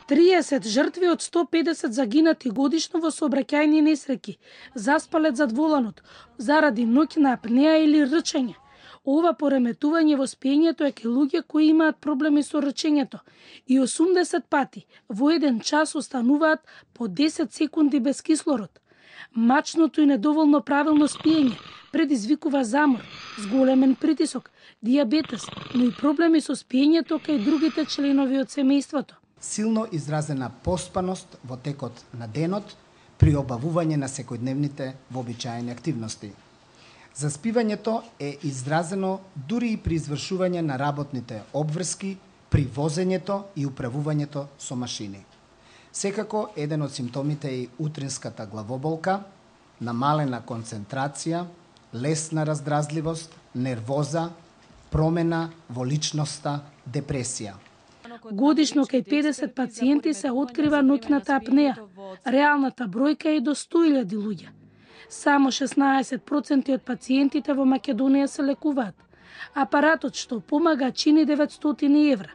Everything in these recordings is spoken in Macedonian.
30 жртви од 150 загинати годишно во сообраќајни несреќи, заспалет зад воланот, заради ноќна апнеа или рчење. Ова пореметување во спиењето е кај луѓе кои имаат проблеми со рчењето и 80 пати во еден час остануваат по 10 секунди без кислород. Мачното и недоволно правилно спиење предизвикува замор, зголемен притисок, дијабетес, но и проблеми со спиењето кај другите членови од семејството. Силно изразена поспаност во текот на денот при обавување на секојдневните вообичаени активности. Заспивањето е изразено дури и при извршување на работните обврски, при возењето и управувањето со машини. Секако, еден од симптомите е и утринската главоболка, намалена концентрација, лесна раздразливост, нервоза, промена во личноста, депресија. Годишно кај 50 пациенти се открива ноќната апнеа. Реалната бројка е до 100.000 луѓе. Само 16% од пациентите во Македонија се лекуваат. Апаратот што помага чини 900 евра.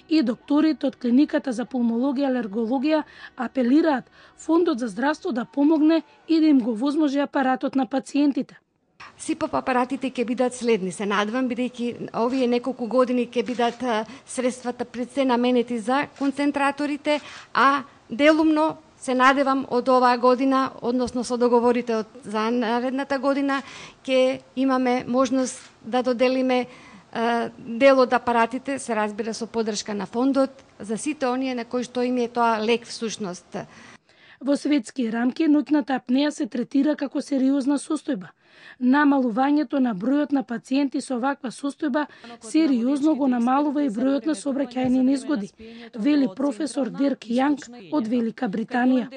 И докторите од клиниката за пулмологија и алергологија апелираат Фондот за здравство да помогне и да им го возможи апаратот на пациентите. СИПАП апаратите ќе бидат следни, се надвам, бидејќи овие неколку години ќе бидат средствата пред се наменети за концентраторите, а делумно се надевам од оваа година, односно со договорите за наредната година, ќе имаме можност да доделиме дел од апаратите, се разбира со поддршка на фондот, за сите оние на кои што им е тоа лек всушност. Во светски рамки ноќната апнеа се третира како сериозна состојба. Намалувањето на бројот на пациенти со оваква состојба сериозно го намалува и бројот на сообраќајни незгоди, вели професор Дирк Јанг од Велика Британија.